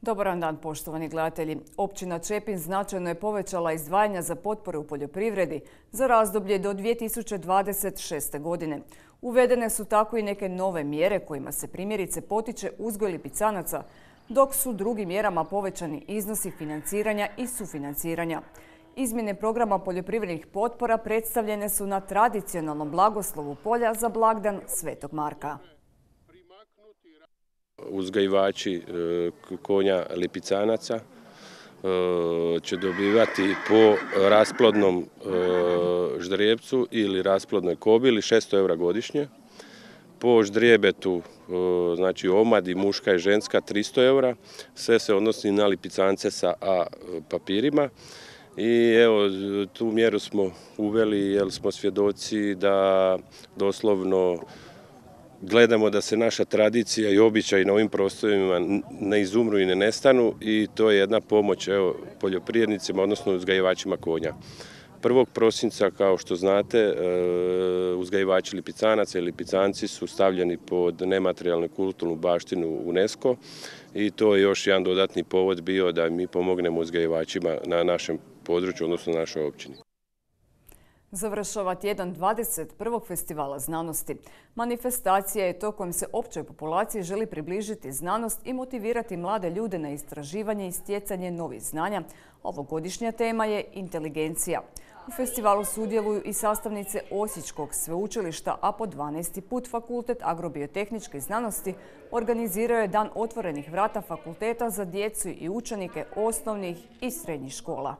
Dobar dan, poštovani gledatelji. Općina Čepin značajno je povećala izdvajanja za potpore u poljoprivredi za razdoblje do 2026. godine. Uvedene su tako i neke nove mjere kojima se primjerice potiče uzgoj lipicanaca, dok su drugim mjerama povećani iznosi financiranja i sufinanciranja. Izmjene programa poljoprivrednih potpora predstavljene su na tradicionalnom blagoslovu polja za blagdan Svetog Marka. Uzgajivači konja lipicanaca će dobivati po rasplodnom ždrijebcu ili rasplodnoj kobili 600 eura godišnje. Po ždrijebetu, znači omadi muška i ženska 300 eura. Sve se odnosi na lipicance sa A papirima. I evo, tu mjeru smo uveli jer smo svjedoci da doslovno gledamo da se naša tradicija i običaji na ovim prostorima ne izumru i ne nestanu i to je jedna pomoć poljoprivrednicima, odnosno uzgajivačima konja. 1. prosinca, kao što znate, uzgajivači lipicanaca i lipicanci su stavljeni pod nematerijalnu kulturnu baštinu UNESCO i to je još jedan dodatni povod bio da mi pomognemo uzgajivačima na našem području, odnosno na našoj općini. Završava tjedan 21. festivala znanosti. Manifestacija je to kojim se općoj populaciji želi približiti znanost i motivirati mlade ljude na istraživanje i stjecanje novih znanja. Ovogodišnja tema je inteligencija. U festivalu sudjeluju i sastavnice Osječkog sveučilišta, a po 12. put Fakultet agrobiotehničkih znanosti organizirao je Dan otvorenih vrata fakulteta za djecu i učenike osnovnih i srednjih škola.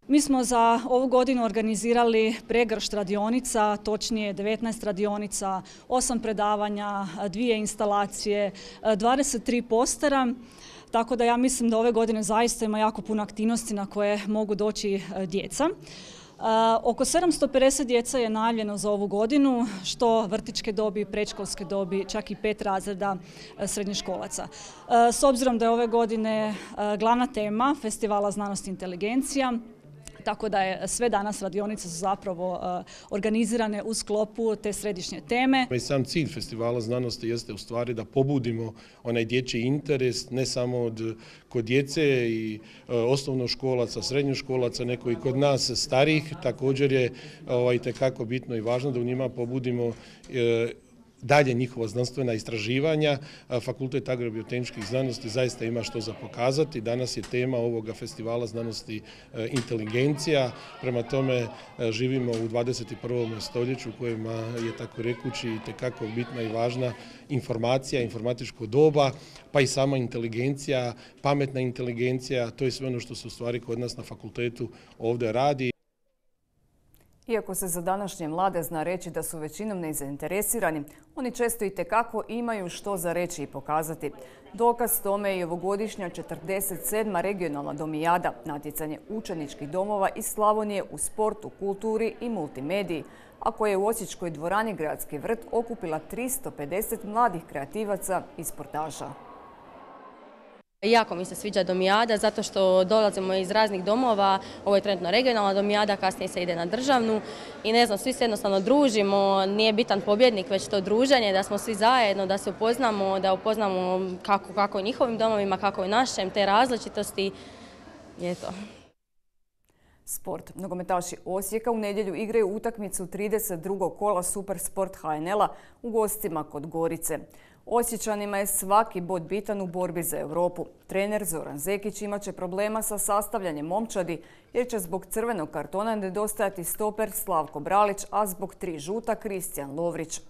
Mi smo za ovu godinu organizirali pregršt radionica, točnije 19 radionica, 8 predavanja, 2 instalacije, 23 postera. Tako da ja mislim da ove godine zaista ima jako puno aktivnosti na koje mogu doći djeca. Oko 750 djeca je najavljeno za ovu godinu, što vrtićke dobi, predškolske dobi, čak i 5 razreda srednjoškolaca. S obzirom da je ove godine glavna tema Festivala znanosti i inteligencija, tako da je sve danas radionice su zapravo organizirane u sklopu te središnje teme. I sam cilj Festivala znanosti jeste u stvari da pobudimo onaj dječji interes ne samo kod djece i osnovnoškolaca, srednjoškolaca, nego i kod nas starijih. Također je itekako bitno i važno da u njima pobudimo dalje njihova znanstvena istraživanja. Fakultet agrobiotehničkih znanosti zaista ima što za pokazati. Danas je tema ovoga Festivala znanosti inteligencija. Prema tome živimo u 21. stoljeću u kojima je tako rekući itekako bitna i važna informacija, informatičko doba, pa i sama inteligencija, pametna inteligencija. To je sve ono što se u stvari kod nas na fakultetu ovdje radi. Iako se za današnje mlade zna reći da su većinom nezainteresirani, oni često itekako imaju što za reći i pokazati. Dokaz tome je i ovogodišnja 47. regionalna domijada, natjecanje učeničkih domova iz Slavonije u sportu, kulturi i multimediji, a koja je u Osječkoj dvorani Gradski vrt okupila 350 mladih kreativaca i sportaša. Jako mi se sviđa domijada zato što dolazimo iz raznih domova, ovo je trenutno regionalna domijada, kasnije se ide na državnu i ne znam, svi se jednostavno družimo, nije bitan pobjednik već to druženje, da smo svi zajedno, da se upoznamo, da upoznamo kako u njihovim domovima, kako u našem, te različitosti je to. Sport. Nogometaši Osijeka u nedjelju igraju utakmicu 32. kola Super Sport HNL-a u gostima kod Gorice. Osječanima je svaki bod bitan u borbi za Europu. Trener Zoran Zekić imat će problema sa sastavljanjem momčadi jer će zbog crvenog kartona nedostajati stoper Slavko Bralić, a zbog 3 žuta Kristijan Lovrić.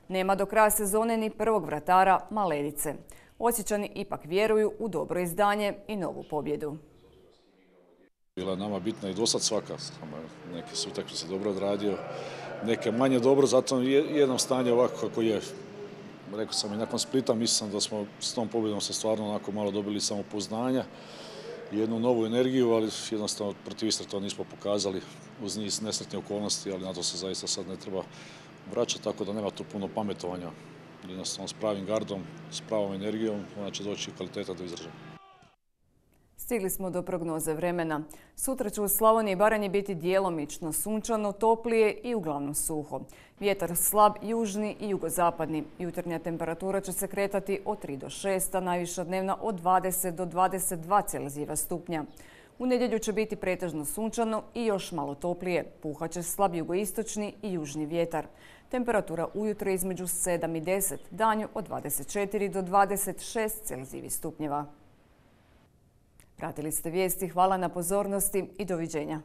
Nema do kraja sezone ni prvog vratara Maledice. Osječani ipak vjeruju u dobro izdanje i novu pobjedu. Bila je nama bitna i dosad svaka. Neke su utakmice dobro odradio, neke manje dobro, zato jednom stanje ovako kako je. Rekao sam i nakon Splita, mislim da smo s tom pobjedom se stvarno onako malo dobili samopouzdanja i jednu novu energiju, ali jednostavno protiv Istre to nismo pokazali uz niz nesretnih okolnosti, ali na to se zaista sad ne treba vraćati, tako da nema tu puno pametovanja. Jednostavno s pravim gardom, s pravom energijom, ona će doći kvaliteta do izražaja. Stigli smo do prognoze vremena. Sutra će u Slavoniji i Baranji biti djelomično sunčano, toplije i uglavnom suho. Vjetar slab južni i jugozapadni. Jutarnja temperatura će se kretati od 3 do 6, a najviša dnevna od 20 do 22 Celzijeva stupnja. U nedjelju će biti pretežno sunčano i još malo toplije. Puhat će slab jugoistočni i južni vjetar. Temperatura ujutro između 7 i 10, danju od 24 do 26 Celzijevih stupnjeva. Pratili ste vijesti, hvala na pozornosti i doviđenja.